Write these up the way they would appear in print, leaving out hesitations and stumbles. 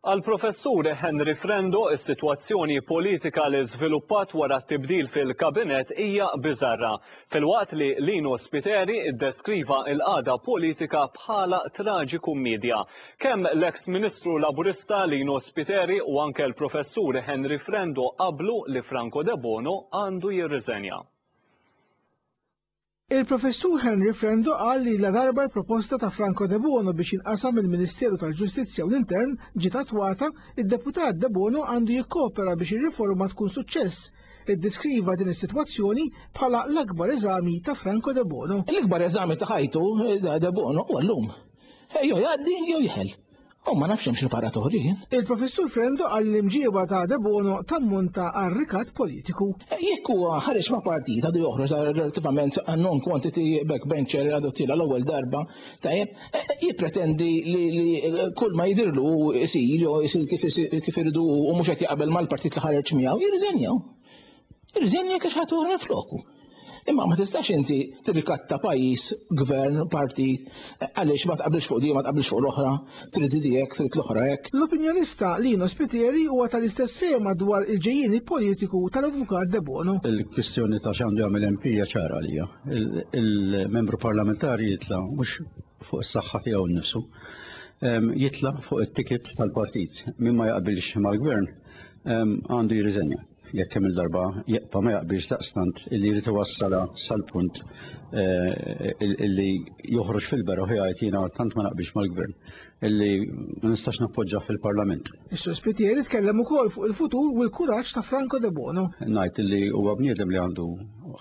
Għall-Professur Henry Frendo, is-sitwazzjoni politika li żviluppat wara t-tibdil fil-Kabinett hija biżarra, filwaqt li Lino Spiteri ddeskriva l-qagħda politika bħala traġikummiedja. Kemm l-eks Ministru Laburista Lino Spiteri u anke l-Professur Henry Frendo qablu li Franco Debono għandu jirriżenja. Il-Professur Henry Frendo qal li ladarba l-proposta ta' Franco Debono biex jinqasam il-Ministeru tal-Ġustizzja u l-Intern ġiet attwata, id-Deputat Debono għandu jikkopera biex ir-riforma tkun suċċess. Iddeskriva din is-sitwazzjoni bħala l-akbar eżami ta' Franco Debono. L-ikbar eżami ta' ħajtu Debono huwa llum. Jew jgħaddi jew jeħel. U ma nafx hemm xi paratori jien. Il-Professur Frendo qal li l-imġieba ta' Debono tammonta għal rikat politiku. Jekk huwa ħareġ ma' partit għadu joħroġ relattivament non quantity backbencher għadu tila l-ewwel darba, tajjeb, jippretendi li kull ma jidhirlu isir jew isir kif iridu u mhux qed jaqbel mal-partit li ħareġ miegħu, jirriżenjaw. Irriżenja jekk ħadd oħra floku. Imma ma tistax inti tirrikatta pajjiż, gvern, partit, għaliex ma tqabilx fuq di, ma tqabilx fuq l-oħra, trid di hekk, trid l-oħra hekk. L-opinjonista Lino Spiteri huwa tal-istess fehma dwar il-ġejjieni politiku tal-Avukat Debono. Il-kwistjoni ta' x'għandu jagħmel MP hija ċara għalija. Il-membru parlamentari jitla' mhux fuq is-saħħa tiegħu nnifsu, jitla' fuq it-ticket tal-partit. Min ma jaqbilx mal-gvern għandu jirriżenja. Jekk kemm il-darba jibqa' ma jaqbilx daqstant illi jrid iwassalha sal-punt eh, illi joħroġ fil-beraħ u jgħid jiena tant ma naqbilx mal-gvern illi ma nistax nappoġġa fil-parlament. Is-Sur Spiteri tkellem ukoll fuq il-futur u l-kuraġġ ta' Franco Debono. Ngħid illi huwa bniedem li għandu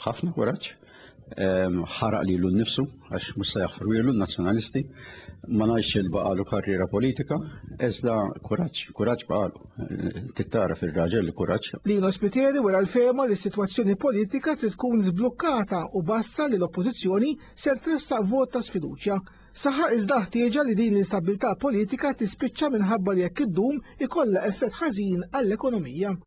ħafna kuraġġ, ħaraq lilu nnifsu għax mhux se jaħfru n-nazzjonalisti, ma ngħidx il baqalu karriera politika, iżda kuraġġ, kuraġġ baqalu. Tittara fir-raġel li kuraġġ. Lino Spiteri wera l-fehma li s-sitwazzjoni politika trid tkun żblukkata u bassar li l-Oppożizzjoni ser tressaq vot ta' sfiduċja. Saħaq iżda ħtieġa li din l-instabbiltà politika tispiċċa minħabba li jekk iddum ikollha effett ħażin għall-ekonomija.